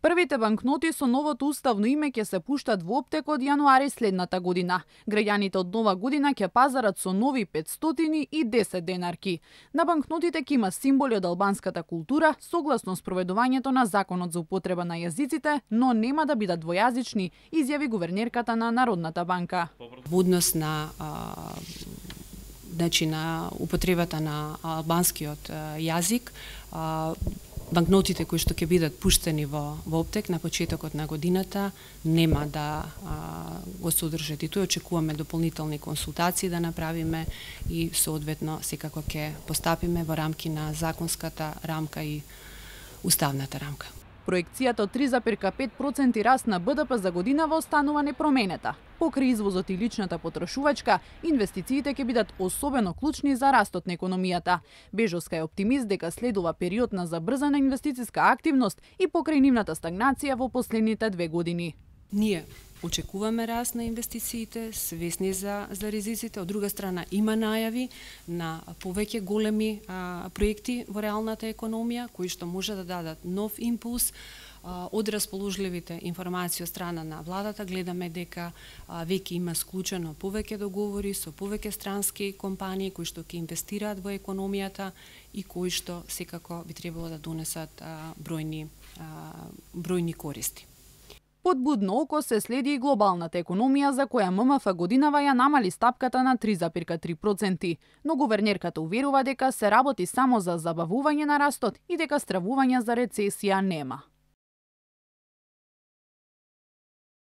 Првите банкноти со новото уставно име ќе се пуштат во оптек од јануари следната година. Граѓаните од нова година ќе пазарат со нови 500 и 10 денарки. На банкнотите ќе има символи од албанската култура, согласно спроведувањето на Законот за употреба на јазиците, но нема да бидат двојазични, изјави гувернерката на Народната банка. Во однос на на употребата на албанскиот јазик, банкнотите кои што ќе бидат пуштени во оптек на почетокот на годината нема да го содржат и тој. Очекуваме дополнителни консултации да направиме и соодветно секако ќе постапиме во рамки на законската рамка и уставната рамка. Проекцијата од 3,5% раст на БДП за годинава останува непроменета. Покрај извозот и личната потрошувачка, инвестициите ќе бидат особено клучни за растот на економијата. Бежовска е оптимист дека следува период на забрзана инвестициска активност и покрај нивната стагнација во последните 2 години. Ние очекуваме раст на инвестициите, свесни за ризиците. Од друга страна има најави на повеќе големи проекти во реалната економија кои што може да дадат нов импулс. Од расположливите информации од страна на владата гледаме дека веќе има склучено повеќе договори со повеќе странски компании кои што ќе инвестираат во економијата и кои што секако би требало да донесат бројни користи. Под будно око се следи и глобалната економија за која ММФ годинава ја намали стапката на 3,3%, но гувернерката уверува дека се работи само за забавување на растот и дека стравување за рецесија нема.